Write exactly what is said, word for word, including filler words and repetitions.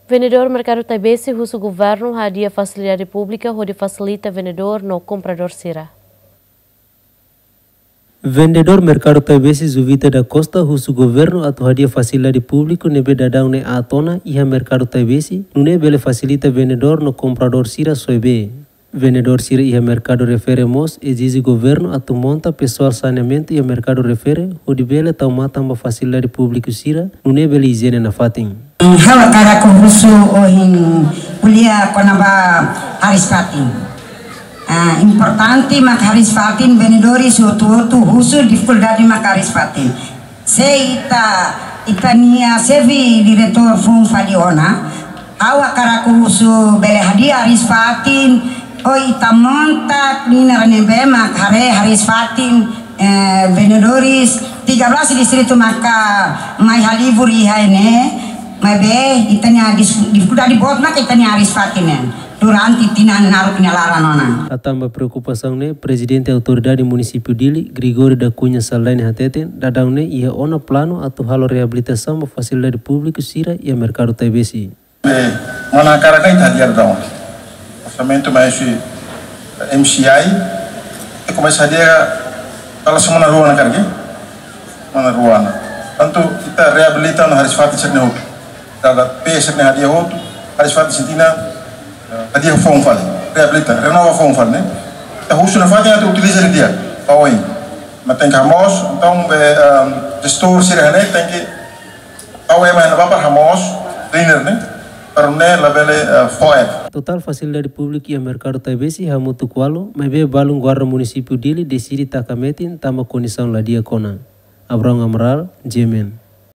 Vendedór Merkadu Taibesi husu governu hadi'a fasilidade públika hodi fasilita vendedór no kompradór sira. Vendedór Merkadu Taibesi Juvita da Costa husu governu atu hadi'a fasilidade públiku ne'ebé daudaun ne'e aat ona iha Merkadu Taibesi, nune'e bele fasilita vendedór no kompradór sira soe bee. Vendedór sira iha Merkadu Refere mós ezije governu atu monta pesoál saneamentu iha Merkadu Refere, hodi bele tau matan ba fasilidade públiku sira, nune'e bele ijiene nafatin. Ha'u hakarak husu ohin ko'alia kona-ba hariis-fatin. Ah, importante mak hariis-fatin, vendedores hotu-hotu husu difikuldade mak hariis-fatin. Se ita, ita-nia xefe diretór foun fali ona, ha'u hakarak husu bele hadi'a hariis-fatin, ou ita monta ninar ne'ebé mak haree hariis-fatin, eh, vendedores tiga belas distritu maka mai halibur iha ne'e, maibé ita-nia dis-, difikuldade boot mak ita-nia hariis-fatin ne'e durante tinan naruk nia laran ona. Hatán ba preokupasaun ne'e, Prezidente Autoridade Munisípiu Dili, Gregório da Cunha Saldanha hateten, daudaun ne'e iha ona planu atu halo reabilitasaun ba fasilidade públiku sira iha Merkadu Taibesi. Eh, mana hakarak ita hadi'a daudaun. Orsamentu mai husi M C I, ita komesa hadi'a dala semana rua ona karik. Semana rua ona. Tantu ita reabilita ona hariis-fatin sira-ne'e hotu. Dala pee sira-ne'e hadi'a hotu, hariis-fatin sira-ne'e, eh, hadi'a foun fali, reabilita, renova foun fali, ne'e. Ita husu nafatin atu utiliza didi'ak, ba oin. Mas tenke hamoos, entaun, be, ehm, jestór sira-ne'e tenke tau ema iha ne'ebá para hamoos, cleaner ne'e, para nune'e labele, eh, fó aat. Totál fasilidade públiku iha Merkadu Taibesi hamutuk ualu, maibé balun Guarda Munisípiu Dili deside taka metin tanba kondisaun la di'ak ona. Abraão Amaral, G M N.